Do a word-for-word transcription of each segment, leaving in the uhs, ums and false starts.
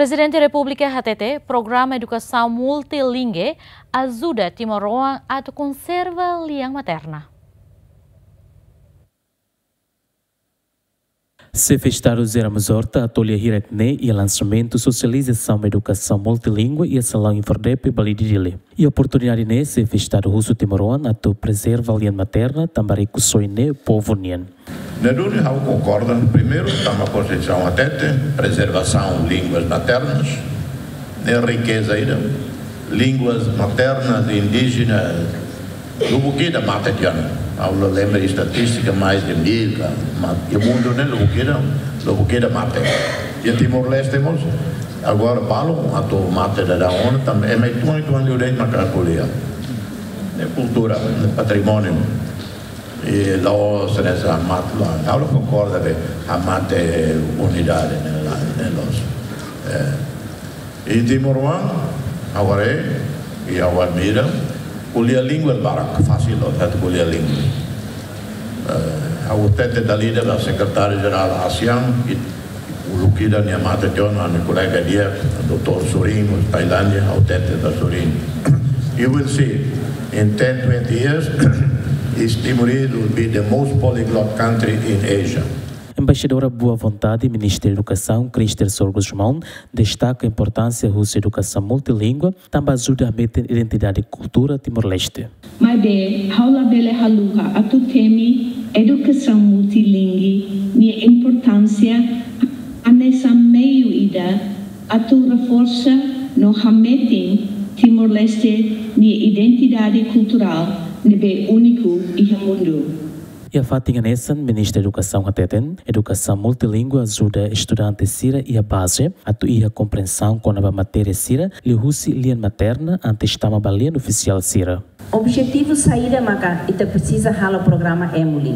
Prezidente Repúblika hatete programa edukasaun multilingue ajuda timoroan atu konserva lian materna. Xefe Estadu José Ramos Horta hato'o lia hirak-ne'e iha lansamentu sosializasaun edukasaun multilingua iha Salaun INFORDEPE Balide, Dili. Iha oportunidade ne'e, Xefe Estadu husu timoroan atu prezerva lian materna tanba rikusoin ne'e povu nian. Ne'e duni ha'u konkorda, primeiru, tanba Konstituisaun hatete, prezervasaun línguas maternas, ne'e rikeza ida. Línguas maternas indígenas, lubuk ida mate tiha ona. Ha'u la lembra estatístika, mais de mil ka, ma, iha mundu ne'e lubuk ida, lubuk ida mate. Iha Timor-Leste mós, agora balun atu mate daudaun ona, tanba ema uitoan, uitoan liu de'it maka ko'alia. Ne'e kultura, ne'e patrimóniu. I la'ós hanesan mate, la, ha'u la konkorda be, hamate unidade, ne'e la, ne'e loos. Eh, i timoroan, agora, i ha'u admira, ko'alia língua barak, fasil loos, atu ko'alia língua. Eh, ha'u hatete dala ida ba Sekretáriu Jerál ASEAN, i uluk ida nia mate tiha ona, ami kolega di'ak, doutór Surinho, Tailándia, ha'u hatete ba Surinho. You will see, in ten, twenty years, East Timorese will be the most polyglot country in Asia. Embaixadora Boa Vontade, Ministra Edukasaun, Christel Soares Gusmão, destaka importánsia husi edukasaun multilingua, tanba ajuda hametin identidade kultura Timor-Leste. Maibé, ha'u labele haluha atu temi edukasaun multilingue nia importánsia hanesan meiu ida atu reforsa no hametin Timor-Leste nia identidade kulturál ne'ebé úniku iha mundu. Iha fatin hanesan, Ministra Edukasaun hateten, edukasaun multilingua ajuda estudante sira iha baze atu iha komprensaun kona-ba matéria sira liuhusi lian materna antes tama ba lian ofisiál sira. Objetivu saida maka ita presiza halo programa EMULI?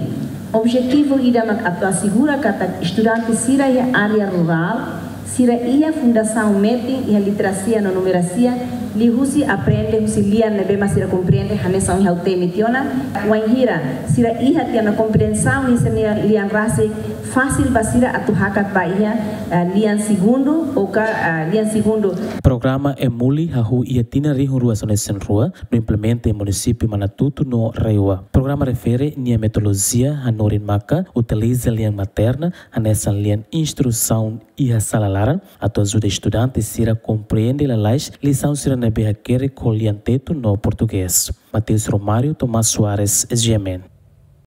Objetivu ida mak atu asegura katak estudante sira iha área rurál sira iha fundasaun metin iha literasia no numerasia, liuhusi aprende husi lian ne'ebé mak sira komprende, hanesan ohin ha'u temi tiha ona. Wainhira sira iha tiha ona komprensaun iha sira-nia lian rasik, fasil ba sira atu hakat ba iha, eh, lian segundu, ou ka, eh, lian segundu. Programa EMULI hahú iha tinan rihun rua sanulu-resin-rua, no implementa iha munisípiu Manatuto no RAEOA. Programa refere nia metodolojia hanorin maka utiliza lian materna hanesan lian instrusaun iha sala laran, atu ajuda estudante sira komprende lalais lisaun sira ne'ebé hakerek ho lian Tetun no Portugés. Mateus Romário, Tomás Soares, S G M N.